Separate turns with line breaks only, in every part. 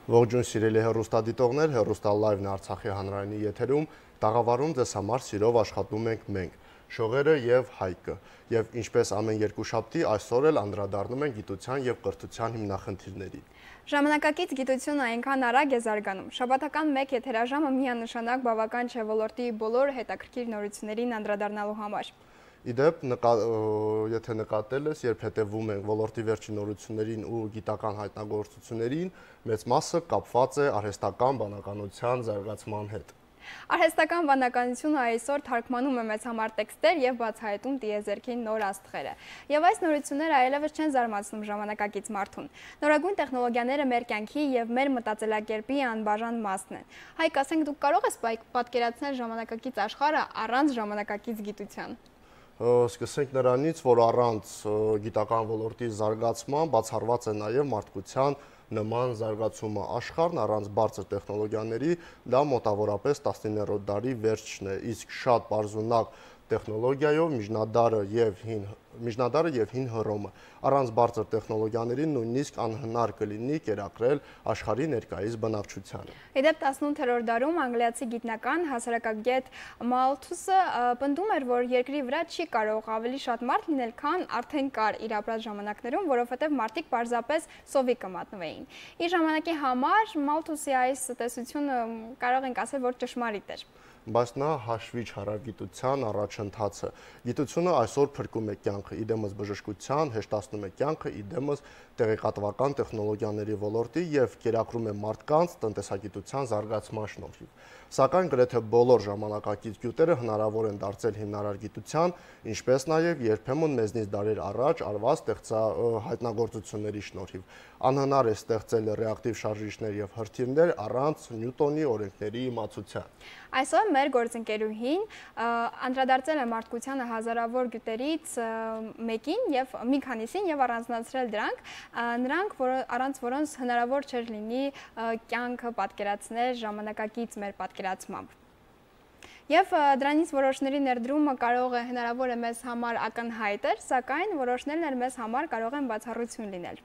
Ողջույն սիրելի հեռուստադիտողներ, հեռուստա լայվն Արցախի հանրայինի եթերում, տաղավարում ձեզ համար սիրով աշխատում ենք մենք, Շողերը եւ Հայկը, եւ ինչպես ամեն երկուշաբթի այսօր էլ անդրադառնում ենք գիտության եւ կրթության հիմնախնդիրներին։
Ժամանակակից գիտությունը այնքան արագ է զարգանում, շաբաթական մեկ եթերաժամը միանշանակ բավական չէ ոլորտի բոլոր հետաքրքիր նորություններին անդրադառնալու համար։
Իդեպ, եթե նկատել ես, երբ հետևում ենք ոլորտի վերջին նորություններին ու գիտական հայտնագործություններին, մեծ մասը կապված է արհեստական բանականության զարգացման հետ։
Արհեստական բանականությունը այսօր թարգմանում է մեծ համար տեքստեր եւ բացահայտում տիեզերքի նոր աստղերը։ Եվ այս նորությունները այլևս չեն զարմացնում ժամանակակից մարդուն։ Նորագույն տեխնոլոգիաները մեր կյանքի եւ մեր մտածելակերպի անբաժան մասն են։ Հայկ, ասենք, դուք կարող եք պատկերացնել ժամանակակից աշխարհը առանց ժամանակակից գիտության։
Սկսենք նրանից, որ առանց գիտական ոլորտի զարգացման բացառված է նաև մարդկության նման զարգացումը։ Աշխարհն առանց բարձր տեխնոլոգիաների դա մոտավորապես 19-րդ դարի վերջն է, իսկ շատ բարձունակ տեխնոլոգիայով միջնադարը եւ հին Հռոմը։ Առանց բարձր տեխնոլոգիաների նույնիսկ անհնար կլինի կերակրել աշխարհի ներկայիս բնակչությանը։
Իդեպ 18-րդ դարում անգլիացի գիտնական հասարակագետ Մալթուսը պնդում էր, որ երկրի վրա չի կարող ավելի շատ մարդ լինել, քան արդեն կար իր ապրած ժամանակներում, որովհետև մարդիկ պարզապես սովի կմատնվեին։ Իր ժամանակի համար Մալթուսի այս տեսությունը կարող ենք ասել, որ ճշմարիտ էր։
Բայց նա հաշվի չառավ գիտության առաջընթացը։ Գիտությունը այսօր փրկում է կյանքը, իդեմս բժշկության, հեշտացնում է կյանքը, իդեմս տեղեկատվական տեխնոլոգիաների ոլորտի եւ կերակրում է մարդկանց տնտեսագիտության զարգացման շնորհիվ։ Սակայն գրեթե բոլոր ժամանակակից գյուտերը հնարավոր են դարձել հիմնարար գիտության, ինչպես նաեւ երբեմն մեզնից դարեր առաջ արված հայտնագործությունների շնորհիվ։ Անհնար է ստեղծել ռեակտիվ շարժիչներ եւ հրթիռներ առանց Նյուտոնի օրենքների իմացության։
Այսօր մեր գործընկերուհին անդրադարձել է մարդկությանը հազարավոր գյուտերից մեկին եւ մի քանիսին եւ առանձնացրել նրանք, առանց որոնց հնարավոր չէր լինի կյանքը պատկերացնել ժամանակակից մեր պատկերացմամբ։ Եվ դրանից որոշների ներդրումը կարող է հնարավոր է մեզ համար ակնհայտ էր, սակայն որոշներն էլ մեզ համար կարող են բացառություն լինել։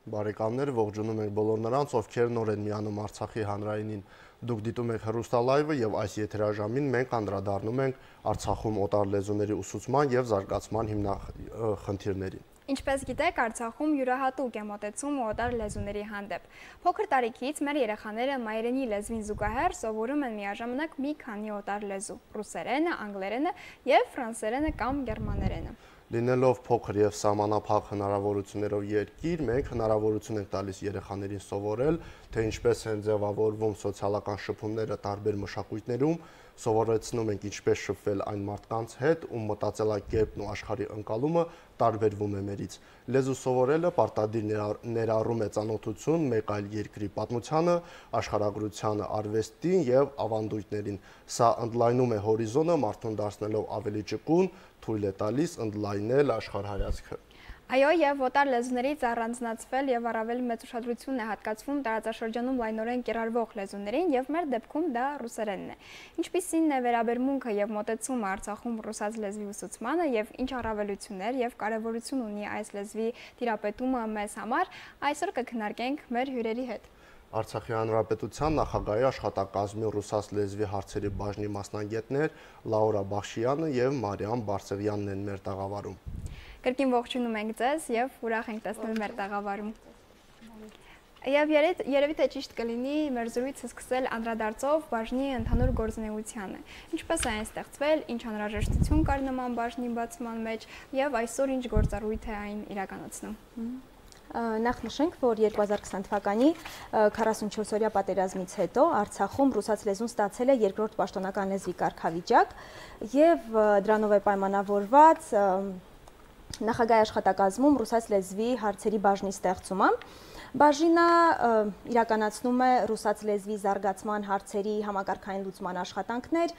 Բարեկամներ, ողջունում ենք բոլոր նրանց, ովքեր նոր են միանում Արցախի հանրայինին։ Դուք դիտում եք հեռուստալայվը եւ այս եթերաժամին մենք անդրադառնում ենք Արցախում օտար լեզուների ուսուցման եւ զարգացման հիմնախնդիրներին։
Ինչպես գիտեք, Արցախում յուրահատուկ է մոտեցումը օտար լեզուների հանդեպ։ Փոքր տարիքից մեր երեխաները մայրենի լեզվին զուգահեռ սովորում են միաժամանակ մի քանի օտար լեզու՝ ռուսերենը, անգլերենը եւ ֆրանսերենը կամ գերմաներենը։
Լինելով փոքր եւ սահմանափակ հնարավորություններով երկիր, մենք հնարավորություն ենք տալիս երեխաներին սովորել, թե ինչպես են ձևավորվում սոցիալական շփումները տարբեր մշակույթներում, սովորեցնում ենք ինչպես շփվել այն մարդկանց հետ, ում մտածելակերպն ու աշխարհի ընկալումը տարբերվում է մերից։ Լեզու սովորելը պարտադիր ներառում է ծանոթություն մեկ այլ երկրի պատմությանը, աշխարհագրությանը, արվեստին եւ ավանդույթներին։ Սա ընդլայնում է հորիզոնը, մարդուն դարձնելով ավելի ճկուն, թույլ է տալիս ընդլայնել աշխարհայացքը։
Այո, եւ օտար լեզուներից առանձնացվել եւ առավել մեծ ուշադրություն է հատկացվում տարածաշրջանում լայնորեն կիրառվող լեզուներին եւ մեր դեպքում դա ռուսերենն է։ Ինչպիսին է վերաբերմունքը եւ մոտեցումը Արցախում ռուսաց լեզվի ուսուցմանը եւ ինչ առավելություններ եւ կարեւորություն ունի այս լեզվի տիրապետումը մեզ համար, այսօր կքննարկենք մեր հյուրերի հետ։
Արցախի հանրապետության նախագահի աշխատակազմի ռուսաց լեզվի հարցերի բաժնի մասնագետներ Լաուրա Բախշյանը եւ Մարիամ Բարսեղյանն են մեր տաղավարում։
Կրկին ողջունում ենք ձեզ եւ ուրախ ենք տեսնել մեր տաղավարում։ Եվ երևի թե ճիշտ կլինի մեր զրույցը սկսել անդրադարձով բաժնի ընդհանուր գործունեությանը։ Ինչպես է այն ստեղծվել, ինչ անհրաժեշտություն կար նման բաժնի բացման մեջ եւ այսօր ինչ գործառույթ է այն իրականացնում։
Նախ նշենք, որ 2020 թվականի 44-օրյա պատերազմից հետո Արցախում ռուսաց լեզուն ստացել է երկրորդ պաշտոնական լեզվի կարգավիճակ եւ դրանով է պայմանավորված նախագահի աշխատակազմում ռուսաց լեզվի հարցերի բաժնի ստեղծումը։ Բաժինը իրականացնում է ռուսաց լեզվի զարգացման հարցերի համակարգային լուծման աշխատանքներ,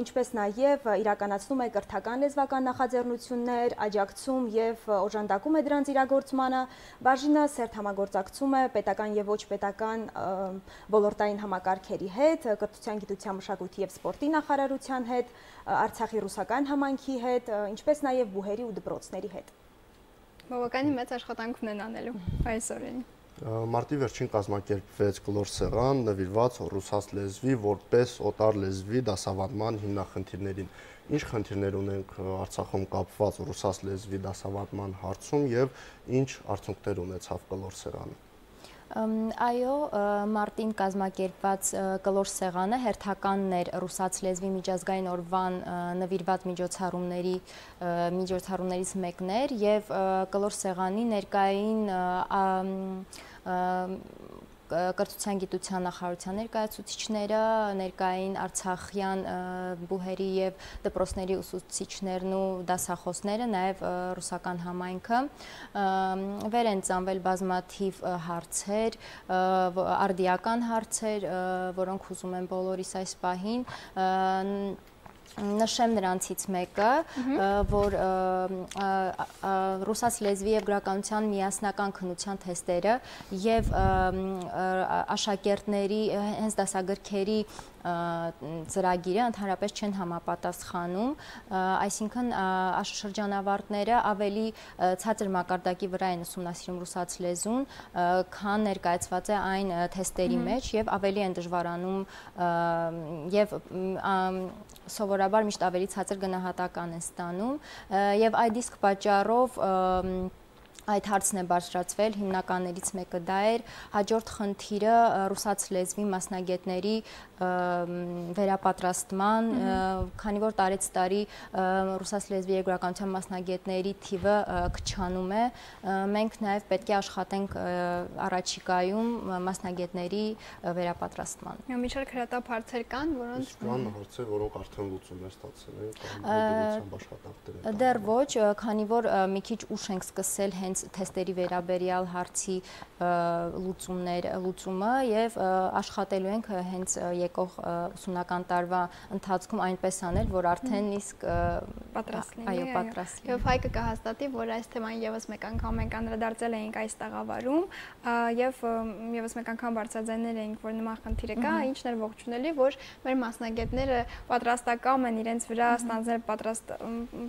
ինչպես նաև իրականացնում է կրթական լեզվական նախաձեռնություններ, աջակցում եւ օժանդակում է դրանց իրագործմանը։ Բաժինը սերտ համագործակցում է պետական եւ ոչ պետական ոլորտային համակարգերի հետ, կրթության, գիտության, մշակույթի եւ սպորտի նախարարության հետ, Արցախի ռուսական համայնքի հետ, ինչպես նաև բուհերի ու դպրոցների հետ։
Բավականին մեծ աշխատանք ունեն անելու այս օրերին։
Մարտի վերջին կազմակերպվեց կլոր սեղան նվիրված ռուսաց լեզվի որպես օտար լեզվի դասավանդման հիմնախնդիրներին։ Ինչ խնդիրներ ունենք Արցախում կապված ռուսաց լեզվի դասավանդման հարցում եւ ինչ արդյունքներ ունեցավ կլոր սեղանը։
Այո, մարտին կազմակերպված կլոր սեղանը հերթականն էր ռուսաց լեզվի միջազգային օրվան նվիրված միջոցառումներից մեկն էր եւ կլոր սեղանի ներկային կրթության գիտության նախարարության ներկայացուցիչները, ներկային արցախյան բուհերի եւ դպրոցների ուսուցիչներն ու դասախոսները, նաեւ ռուսական համայնքը վեր են ծանվել բազմաթիվ հարցեր, արդիական հարցեր, որոնք ուզում են բոլորիս այս պահին նշեմ նրանցից մեկը, որ ռուսաց լեզվի եւ գրականության միասնական քննության թեստերը եւ աշակերտների հենց դասագրքերի ծրագիրը ընդհանրապես չեն համապատասխանում, այսինքն շրջանավարտները ավելի ցածր մակարդակի վրա են ուսումնասիրում ռուսաց լեզուն, քան ներկայացված է այն թեստերի մեջ եւ ավելի են դժվարանում եւ սովորաբար միշտ ավելի ցածր գնահատական են ստանում եւ այդ իսկ պատճառով այդ հարցն է բարձրացվել, հիմնականներից մեկը դա էր, հաջորդ խնդիրը ռուսաց լեզվի մասնագետների վերապատրաստման, քանի որ տարեց տարի ռուսաց լեզվի եւ գրականության մասնագետների թիվը քչանում է, մենք նաեւ պետք է աշխատենք առաջիկայում մասնագետների վերապատրաստման։
Մի շարք հրատապ հարցեր կան, որոնց
կան հարցեր, որոնք արդեն լուծում են ստացել են կամ աշխատանքներ են։
Դեռ ոչ, քանի որ մի քիչ ուշ ենք սկսել հենց թեստերի վերաբերյալ հարցի լուծումը եւ աշխատելու ենք հենց եկող ուսումնական տարվա ընթացքում այնպես անել, որ արդեն իսկ
պատրաստ լինի։
Այո, պատրաստ լինի։
Եվ Հայկը կհաստատի, որ այս թեման եւս մեկ անգամ մենք անդրադարձել էինք այս տաղավարում եւ եւս մեկ անգամ բարձրաձայնել էինք, որ նման խնդիրը կա, ինչն էր ողջունելի, որ մեր մասնագետները պատրաստական են իրենց վրա ստանձնել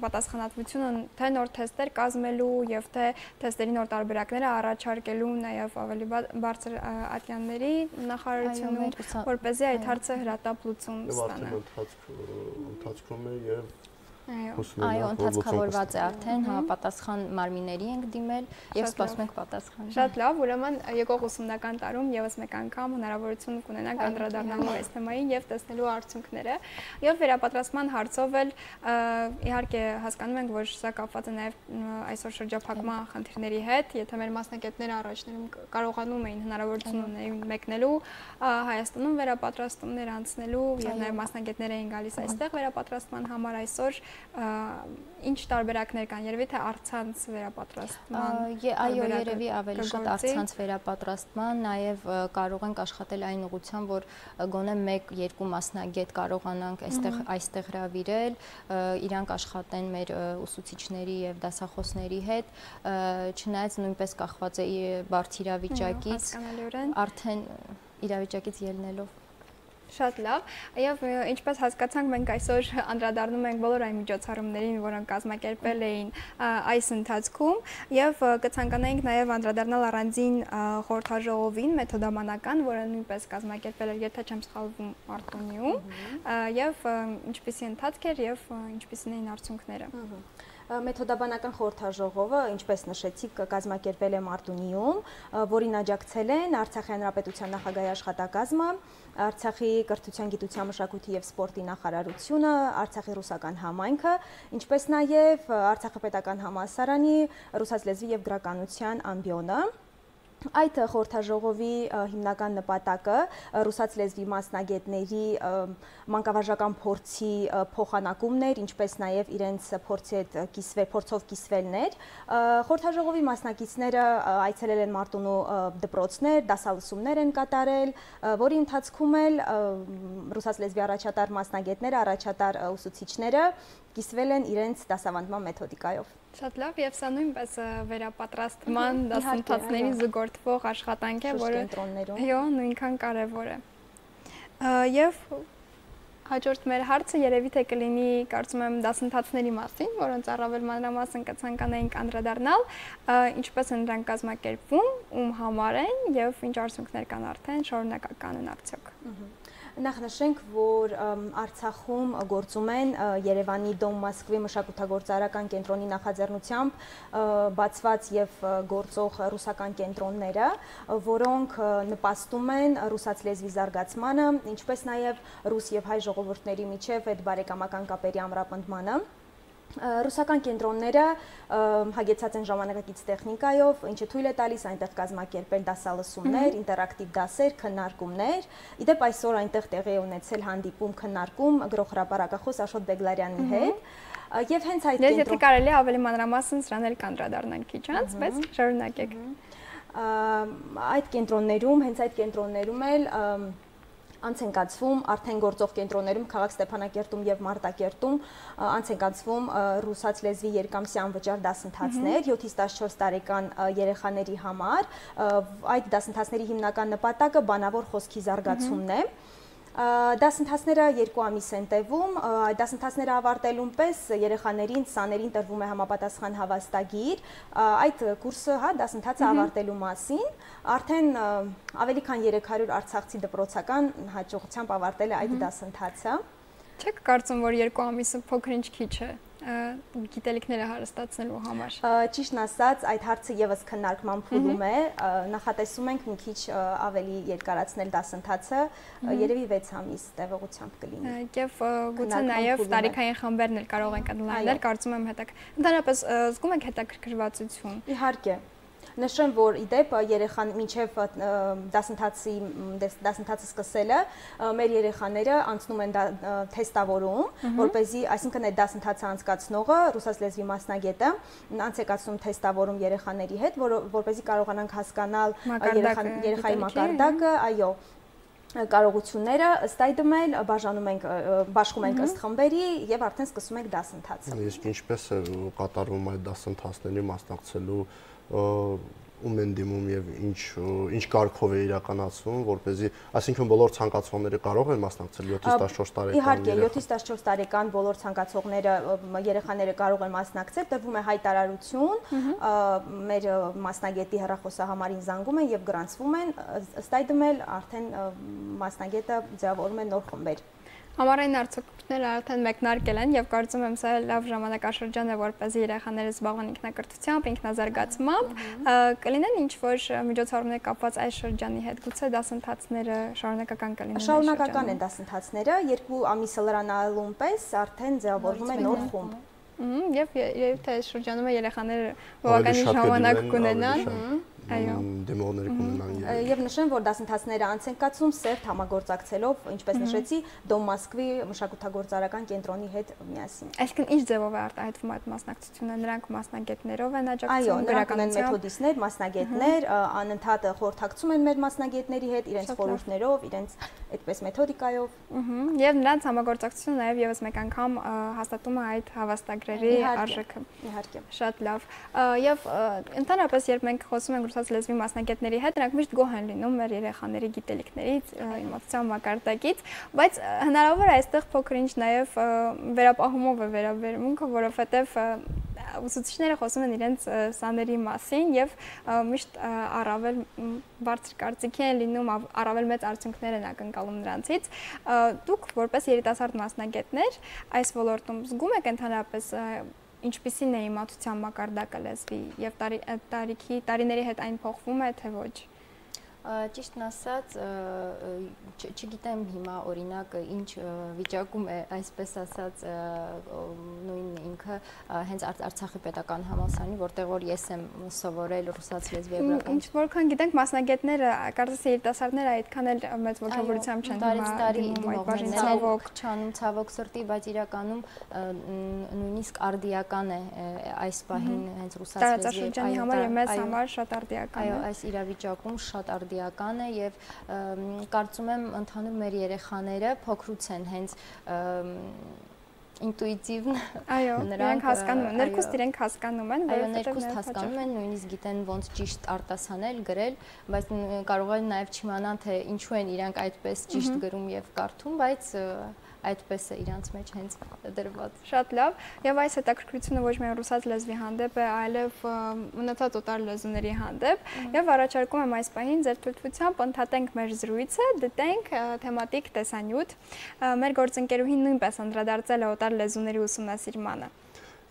պատասխանատվությունը թե նոր թեստեր կազմելու եւ թե թեստերի նոր տարբերակները առաջարկելու նաև ավելի բարձր ատյանների նախարարությունում, որպեսզի այդ հարցը հրատապ լուծում ստանա։
Ընթացքում է եւ
Այո, ընդհանրավորված է արդեն, համապատասխան մարմինների ենք դիմել եւ սպասում ենք պատասխան։
Շատ լավ, ուրեմն եկող ուսումնական տարում եւս մեկ անգամ հնարավորություն կունենանք անդրադառնալու այս թեմային եւ տեսնելու արդյունքները։ Եվ վերապատրաստման հարցով էլ իհարկե հասկանում ենք, որ սա կապված է նաեւ այսօր շրջափակման խնդիրների հետ, եթե մեր մասնագետները առաջներում կարողանում էին հնարավորություն ունեին մեկնելու Հայաստանում վերապատրաստումներ անցնելու եւ նաեւ մասնագետներ էին գալիս այստեղ վերապատրաստման համար, այսօր ինչ տարբերակներ կան, երևի թե առցանց վերապատրաստման։
Այո, երևի ավելի շատ առցանց վերապատրաստման, նաև կարող ենք աշխատել այն ուղղությամբ, որ գոնե 1-2 մասնագետ կարողանանք այստեղ հրավիրել, իրանք աշխատեն մեր ուսուցիչների եւ դասախոսների հետ, չնայած նույնպես կախված է բարդ իրավիճակից, արդեն իրավիճակից ելնելով։
Շատ լավ, եւ ինչպես հասկացանք, մենք այսօր անդրադառնում ենք բոլոր այն միջոցառումներին, որոնք կազմակերպել էին այս ընթացքում, եւ կցանկանայինք նաեւ անդրադառնալ առանձին խորհրդաժողովին, մեթոդամանական, որը նույնպես կազմակերպել էր, եթե չեմ սխալվում, Մարտունիում, եւ ինչպիսի ընթացք էր եւ ինչպիսին էին արդյունքները։
Մեթոդաբանական խորհրդաժողովը, ինչպես նշեցիք, կազմակերպվել է Մարտունիում, որին աջակցել են Արցախի հանրապետության նախագահի աշխատակազմը, Արցախի կրթության, գիտության, մշակույթի եւ սպորտի նախարարությունը, Արցախի ռուսական համայնքը, ինչպես նաեւ Արցախի պետական համալսարանի ռուսաց լեզվի եւ գրականության ամբիոնը։ Այդ խորհրդաժողովի հիմնական նպատակը ռուսաց լեզվի մասնագետների մանկավարժական փորձի փոխանակումն էր, ինչպես նաև իրենց փորձով կիսվելն էր։ Խորհրդաժողովի մասնակիցները այցելել են Մարտունու դպրոցներ, դասալսումներ են կատարել, որի ընթացքում էլ ռուսաց լեզվի առաջատար մասնագետները, առաջատար ուսուցիչները կիսվել են իրենց դասավանդման մեթոդիկայով։
Շատ լավ, եւ սա նույնպես վերապատրաստման դասընթացների զուգորդվող աշխատանք է, որը նույնքան կարեւոր է։ Եվ Հաջորդ մեր հարցը երևի թե կլինի, կարծում եմ, դասընթացների մասին, որոնց առավել մանրամասն կցանկանայինք անդրադառնալ, ինչպես են դրանք կազմակերպվում, ում համար են եւ ինչ արդյունքներ կան արդեն, շարունակական են արդյոք։
Նախ նշենք, որ Արցախում գործում են Երևանի Դոմ Մոսկվի մշակութագործարական կենտրոնի նախաձեռնությամբ բացված եւ գործող ռուսական կենտրոնները, որոնք նպաստում են ռուսաց լեզվի զարգացմանը, ինչպես նաեւ ռուս եւ հայ ժողովուրդների միջև այդ բարեկամական կապերի ամրապնդմանը։ Ռուսական կենտրոնները հագեցած են ժամանակակից տեխնիկայով, ինչը թույլ է տալիս այնտեղ կազմակերպել դասալսումներ, ինտերակտիվ դասեր, քննարկումներ։ Իդեպ այսօր այնտեղ տեղի է ունեցել հանդիպում, քննարկում գրողհրապարակախոս Աշոտ Բեգլարյանի հետ։ Եվ հենց այդ
կենտրոն Եթե կարելի ավելի մանրամասն սրան էլ կանդրադառնանք քիչ անց, բայց շարունակեք։
Այդ կենտրոններում, հենց այդ կենտրոններում էլ անց են կացվում արդեն գործող կենտրոններում քաղաք Ստեփանակերտում եւ Մարտակերտում անց են կացվում ռուսաց լեզվի երկամսյա անվճար դասընթացներ 7-ից 14 տարեկան երեխաների համար այդ դասընթացների հիմնական նպատակը բանավոր խոսքի զարգացումն է Դասընթացները 2 ամիս են տևում, դասընթացները ավարտելուն պես երեխաներին, սաներին տրվում է համապատասխան հավաստագիր, այդ կուրսը, դասընթացը ավարտելու մասին, արդեն ավելի քան 300 արցախցի դպրոցական հաջողությամբ ավարտել է այդ դասընթացը։
Չեք կարծում, որ 2 ամիսը փոքր-ինչ քիչ է գիտելիքները հարստացնելու համար։
Ճիշտն ասած, այդ հարցը եւս քննարկման փուլում է, նախատեսում ենք մի քիչ ավելի երկարացնել դասընթացը, երևի 6 ամիս տևողությամբ կլինի։
Եւ գուցե նաեւ տարիքային խմբերն էլ կարող են ընդլայնել, կարծում եմ ընդհանրապես զգում եք հետաքրքրվածություն։
Իհարկե։ Նշեմ, որ իդեպ երեխան մինչև դասընթացը սկսելը մեր երեխաները անցնում են թեստավորում, որպեսզի, այսինքն այդ դասընթացը անցկացնողը, ռուսաց լեզվի մասնագետը, անց է կացնում թեստավորում երեխաների հետ, որպեսզի կարողանանք հասկանալ երեխայի մակարդակը, այո, կարողությունները ըստ այդմ էլ բաշխում ենք ըստ խմբերի եւ արդեն սկսում ենք դասընթացը։
Իսկ ինչպես է կատարվում այդ դասընթացների մասնակցելու ում են դիմում եւ ինչ կարգով է իրականացվում, որպեսզի, այսինքն բոլոր ցանկացողները կարող են մասնակցել 7-ից 14 տարեկան։
Իհարկե, 7-ից 14 տարեկան բոլոր ցանկացողները, երեխաները կարող են մասնակցել, տրվում է հայտարարություն, մեր մասնագետի հեռախոսահամարին զանգում են եւ գրանցվում են, ըստ այդմ էլ արդեն մասնագետը ձևավորում է նոր խմբեր։
Համառային արդյունքները արդեն մեկնարկել են եւ կարծում եմ սա լավ ժամանակաշրջան է, որպեսզի երեխաները զբաղվեն ինքնակրթությամբ, ինքնազարգացմամբ, կլինեն ինչ-որ միջոցառումներ կապված այս շրջանի հետ, գուցե դասընթացները շարունակական կլինեն։
Շարունակական են դասընթացները, 2 ամիսը լրանալուն պես արդեն ձևավորվում է նոր խումբ։
Եվ թե այս շրջանում երեխաները բավականին ժամանակ կունենան։ Այո,
դեմոներ կունենան
եւ նշեմ, որ դասընթացները անց են կացվում սերտ համագործակցելով, ինչպես նշեցի, Դոմ Մոսկվի մշակութագործարական կենտրոնի հետ միասին։
Այսինքն ինչ ձևով է արտահայտվում այդ մասնակցությունը, նրանք մասնագետներով են աջակցում,
գրականության մեթոդիստներ, մասնագետներ, անընդհատ խորհրդակցում են մեր մասնագետների հետ իրենց խորհուրդներով, իրենց այդպես մեթոդիկայով։
Եւ նրանց համագործակցությունը նաեւ եւս մեկ անգամ հաստատում է այդ հավաստագրերի արժեքը։
Իհարկե։
Շատ լավ։ Եվ ընդհանրապես երբ մենք խոսում ենք ռուսաց լեզվի մասնագետների հետ, նրանք միշտ գոհ են լինում մեր երեխաների գիտելիքներից, իմացության մակարդակից, բայց հնարավոր է այստեղ փոքր-ինչ նաեւ վերապահումով է վերաբերմունքը, որովհետեւ ուսուցիչները խոսում են իրենց սաների մասին եւ միշտ առավել բարձր կարծիքի են լինում, առավել մեծ արդյունքներ են ակնկալում նրանցից։ Դուք որպես երիտասարդ մասնագետներ այս ոլորտում զգում եք ընդհանրապես ինչպիսին է իմացության մակարդակը լեզվի եւ տարիների հետ այն փոխվում է թե ոչ։
Ճիշտն ասած, չգիտեմ հիմա օրինակ ինչ վիճակում է, այսպես ասած, նույն ինքը հենց Արցախի պետական համալսարանի, որտեղ որ ես եմ սովորել ռուսաց լեզվի եւ գրականություն։
Ինչ որքան գիտենք, մասնագետները, կարծես երիտասարդները այդքան էլ մեծ ողջավորությամբ չեն
ցավոք սրտի, բայց իրականում նույնիսկ արդիական է այս պահին հենց ռուսաց լեզվի
տարածաշրջանի համար եւ մեզ համար շատ արդիական է։
Այո, այս իրավիճակում շատ արդիական է եւ կարծում եմ ընդհանուր մեր երեխաները փոքրուց են հենց ինտուիտիվն
այո, նրանք հասկանում են, ներքուստ իրենք հասկանում են,
այո, ներքուստ հասկանում են, նույնիսկ գիտեն ոնց ճիշտ արտասանել, գրել, բայց կարող են նաև չիմանան, թե ինչու են իրանք այդպես ճիշտ գրում եւ կարդում, բայց այդպես է իրանց մեջ հենց դրված։
Շատ լավ, եւ այս հետաքրքրությունը ոչ միայն ռուսաց լեզվի հանդեպ է, այլև մնացած օտար լեզուների հանդեպ, եւ առաջարկում եմ այս պահին ձեր թույլտվությամբ ընդհատենք մեր զրույցը, դիտենք թեմատիկ տեսանյութ։ Մեր գործընկերուհին նույնպես անդրադարձել է օտար լեզուների ուսումնասիրմանը։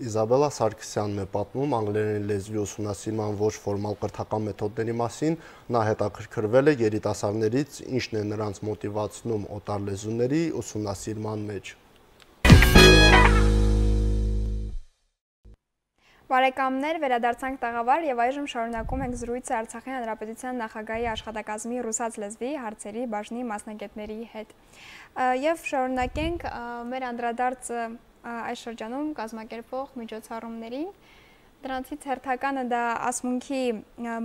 Իզաբելա Սարգսյանն է պատմում անգլերեն լեզվի ուսումնասիրման ոչ ֆորմալ կրթական մեթոդների մասին, նա հետաքրքրվել է երիտասարդներից, ինչն է նրանց մոտիվացնում օտար լեզուների ուսումնասիրման մեջ։
Բարեկամներ, վերադարձանք տաղավար եւ այժմ շարունակում ենք զրույցը Արցախի Հանրապետության նախագահի աշխատակազմի ռուսաց լեզվի հարցերի բաժնի մասնագետների հետ։ Եվ շարունակենք մեր անդրադարձը այս շրջանում կազմակերպվող միջոցառումներին, դրանցից հերթականը դա ասմունքի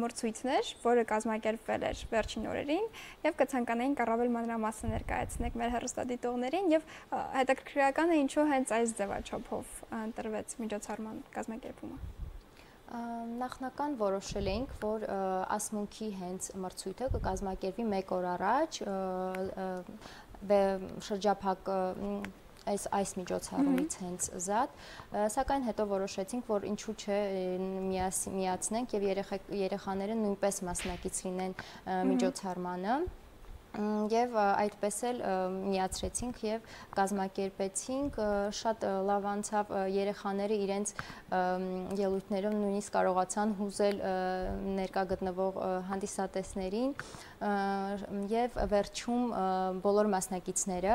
մրցույթն էր, որը կազմակերպվել էր վերջին օրերին եւ կցանկանայինք առավել մանրամասն ներկայացնենք մեր հեռուստադիտողներին եւ հետաքրքրականը ինչու հենց այս ձևաչափով ընտրվեց միջոցառման կազմակերպումը։
Նախնական որոշել էինք, որ ասմունքի հենց մրցույթը կկազմակերպվի 1 օր առաջ շրջափակ այս միջոցառումից հենց զատ, սակայն հետո որոշեցինք, որ ինչու չէ միացնենք եւ երեխաները նույնպես մասնակից լինեն միջոցառմանը եւ այդպես էլ միացրեցինք եւ կազմակերպեցինք, շատ լավ անցավ, երեխաները իրենց ելույթներով նույնիսկ կարողացան հուզել ներկա գտնվող հանդիսատեսներին եւ վերջում բոլոր մասնակիցները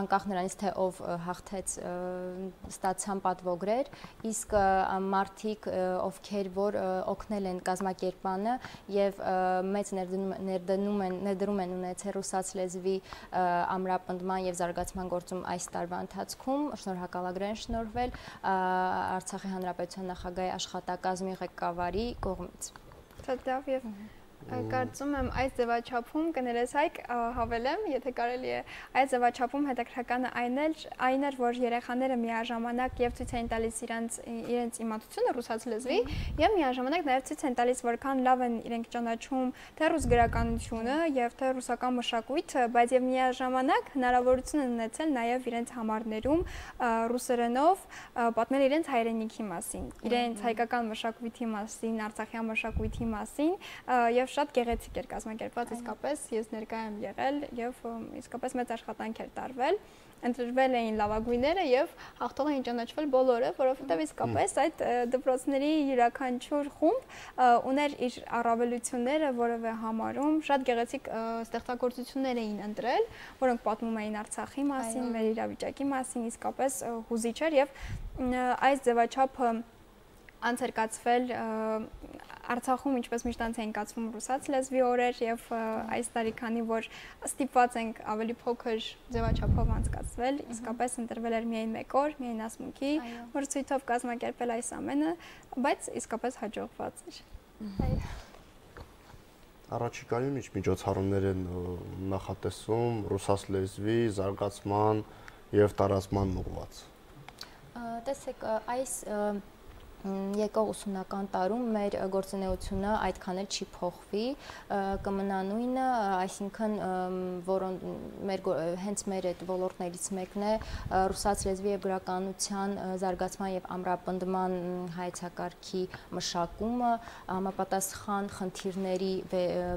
անկախ նրանից թե ով հաղթեց ստացան պատվոգրեր, իսկ մարդիկ ովքեր որ օգնել են կազմակերպմանը եւ մեծ ներդրում են ունեցել ռուսաց լեզվի ամրապնդման եւ զարգացման գործում այս տարվա ընթացքում, շնորհակալագրեր են շնորհվել Արցախի Հանրապետության նախագահի աշխատակազմի ղեկավարի կողմից։
Շատ լավ եւ կարծում եմ այս ձևաչափում կներես Հայկ հավելեմ, եթե կարելի է, այս ձևաչափում հետաքրքրականը այն էր, որ երեխաները միաժամանակ եւ ցույց են տալիս իրենց իմացությունը ռուսաց լեզվի եւ միաժամանակ նաեւ ցույց են տալիս որքան լավ են իրենք ճանաչում թե ռուս գրականությունը եւ թե ռուսական մշակույթը, բայց եւ միաժամանակ հնարավորություն են ունեցել նաեւ իրենց համարներում ռուսերենով պատմել իրենց հայրենիքի մասին, իրենց հայկական մշակույթի մասին, արցախյան մշակույթի մասին եւ շատ գեղեցիկ էր կազմակերպված, իսկապես ես ներկայ եմ եղել եւ իսկապես մեծ աշխատանք էր տարվել, ընտրվել էին լավագույնները եւ հաղթող էին ճանաչվել բոլորը, որովհետեւ իսկապես այդ դպրոցների յուրաքանչյուր խումբ ուներ իր առավելությունները որևէ համարում, շատ գեղեցիկ ստեղծագործություններ էին ընտրել, որոնք պատմում էին Արցախի մասին, մեր իրավիճակի մասին, իսկապես հուզիչ էր եւ այս ձևաչափը անցերկացվել Արցախում ինչպես միշտ անց էին կացվում ռուսաց լեզվի օրեր եւ այս տարի քանի որ ստիպված ենք ավելի փոքր ձևաչափով անցկացվել, իսկապես ընտրվել էր միայն 1 օր, միայն ասմունքի մրցույթով կազմակերպել այս ամենը, բայց իսկապես հաջողված էր։
Առաջիկայում ինչ միջոցառումներ են նախատեսում ռուսաց լեզվի զարգացման եւ տարածման ուղղված։
Տեսեք, այս եկող ուսումնական տարում մեր գործունեությունը այդքան էլ չի փոխվի, կմնա նույնը, այսինքն հենց մեր այդ ոլորտներից մեկն է ռուսաց լեզվի եւ գրականության զարգացման եւ ամրապնդման հայեցակարգի մշակումը, համապատասխան խնդիրների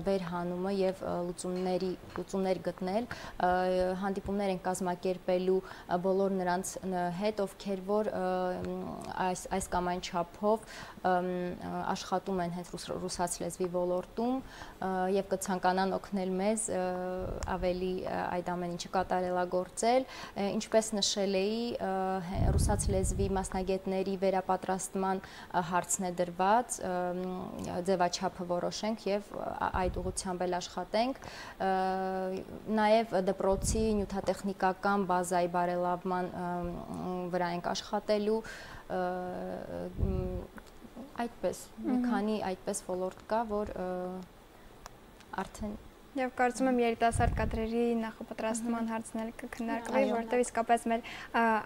վերհանումը եւ լուծումներ գտնել, հանդիպումներ են կազմակերպելու բոլոր նրանց հետ, ովքեր որ այս կամ այն չափով աշխատում են հենց ռուսաց լեզվի ոլորտում եւ կցանկանան օգնել մեզ ավելի այդ ամեն ինչը կատարելագործել, ինչպես նշել էի, ռուսաց լեզվի մասնագետների վերապատրաստման հարցն է դրված, ձևաչափը որոշենք եւ այդ ուղղությամբ էլ աշխատենք, նաեւ դպրոցի նյութատեխնիկական բազայի բարելավման վրա ենք աշխատելու, այդպես մի քանի այդպես ոլորտ կա, որ արդեն
Եվ կարծում եմ երիտասարդ կադրերի նախապատրաստման հարցն էլ կքննարկվի, որովհետև իսկապես մեր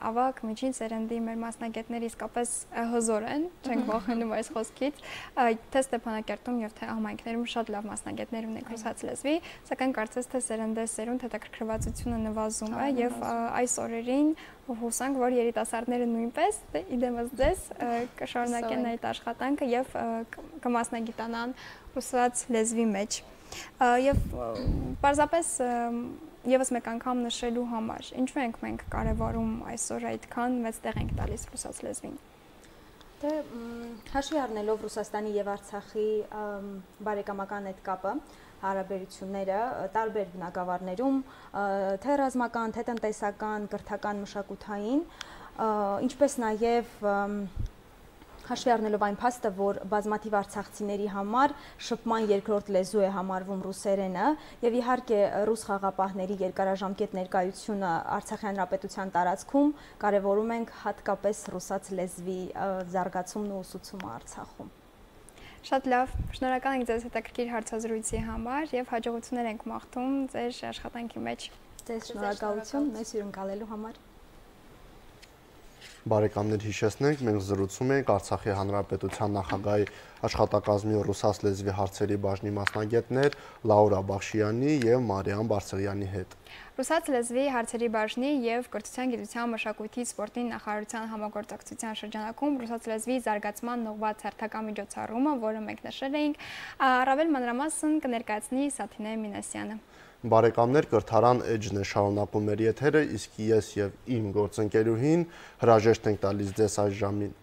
ավագ միջին սերնդի մեր մասնագետները իսկապես հզոր են, չենք վախենում այս խոսքից, թե Ստեփանակերտում եւ թե համայնքներում շատ լավ մասնագետներ ունենք ռուսաց լեզվի, սակայն կարծես թե սերնդեսերունդ հետաքրքրվածությունը նվազում է եւ այս օրերին հուսանք, որ երիտասարդները նույնպես իդեմս ձեզ կշարունակեն այդ աշխատանքը եւ կմասնագիտանան ռուսաց լեզվի մեջ։ Եվ պարզապես եւս մեկ անգամ նշելու համար, ինչու ենք մենք կարևորում այսօր այդքան մեծ տեղ ենք տալիս ռուսաց լեզվին։
Դե հաշվի առնելով Ռուսաստանի եւ Արցախի բարեկամական այդ կապը, հարաբերությունները տարբեր բնակավարներում, թե ռազմական, թե տնտեսական, կրթական, մշակութային, ինչպես նաեւ հաշվի առնելով այն փաստը, որ բազմաթիվ արցախցիների համար շփման երկրորդ լեզու է համարվում ռուսերենը եւ իհարկե ռուս խաղապահների երկարաժամկետ ներկայությունը Արցախի հանրապետության տարածքում կարևորում ենք հատկապես ռուսաց լեզվի զարգացումն ու ուսուցումը Արցախում։
Շատ լավ, շնորհակալ ենք ձեզ հետաքրքիր հարցազրույցի համար եւ հաջողություններ ենք մաղթում ձեր աշխատանքի մեջ։
Ձեզ շնորհակալություն մեզ հյուրընկալելու համար։
Բարեկամներ հիշեցնենք, մենք զրուցում ենք Արցախի հանրապետության նախագահի աշխատակազմի ռուսաց լեզվի հարցերի բաժնի մասնագետներ Լաուրա Բախշյանի եւ Մարիամ Բարսեղյանի հետ։
Ռուսաց լեզվի հարցերի բաժնի եւ կրթության, գիտության, մշակույթի, սպորտի նախարարության համագործակցության շրջանակում ռուսաց լեզվի զարգացման ուղղված հերթական միջոցառումը, որը մենք նշել էինք, առավել մանրամասն կներկայացնի Սաթինե Մինասյանը։
Բարեկամներ, կրթարան էջն է շարունակում մեր եթերը, իսկ ես եւ իմ գործընկերուհին հրաժեշտ ենք տալիս ձեզ այս ժամին